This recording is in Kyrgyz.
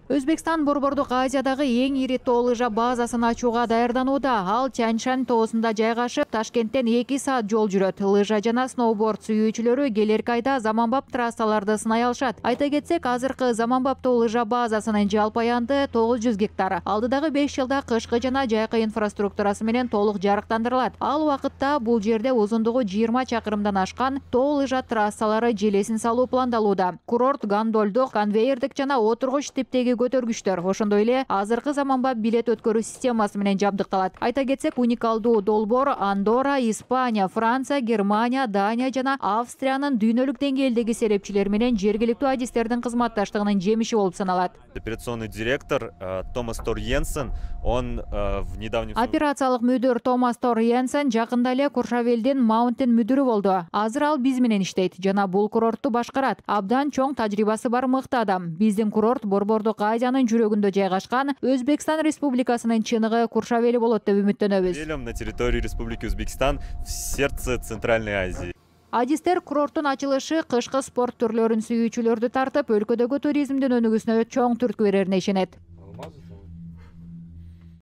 Өзбекстан Борбордук Азиядагы эң ири тоо лыжа базасын ачууга даярданууда. Ал Тяньшань тоосунда жайгашып, Ташкенттен 2 саат жол жүрөт. Лыжа жана сноуборд сүйүүчүлөрү келерки айда заманбап трассаларды сынай алышат. Айта кетсек, азыркы заманбаптуу лыжа базасынын жалпы аянты 900 гектар. Алдыдагы 5 жылда кышкы жана жайкы инфраструктурасы менен толук жарыктандырылат. Ал убакытта бул жерде узундугу 20 чакырымдан ашкан тоо лыжа трассалары желесин салуу пландалууда. Курорт гондолдук, конвейердик жана отургуч типтеги көтөргүчтөр, ошондой эле азыркы заманбап билет өткөрүү системасы менен жабдыкталат. Айта кетсек, уникалдуу долбоор Андорра, Испания, Франция, Германия, Дания жана Австриянын дүйнөлүк деңгээлдеги серепчилери менен жергиликтүү адистердин кызматташтыгынын жемиши болуп саналат. Операционный директор Томас Тор Йенсен, он в недавнем... Операциялык мүдүр Томас Тор Йенсен жакында эле Куршавелдин Маунтин мүдүрү болду. Азыр ал биз менен иштейт жана бул курортту башкарат. Абдан чоң тажрыйбасы бар мыкты адам. Биздин курорт Борбордук Азиянын жүрөгүндө жайгашкан Өзбекстан Республикасынын чыныгы Куршавели болот деп үмүттөнөбүз. На территории Республики Узбекистан, в сердце Центральной Азии. Адистер курорттун ачылышы кышкы спорт түрлөрүн сүйүүчүлөрдү тартып, өлкөдөгү туризмдин өнүгүүсүнө чоң түрткү берерине ишенет.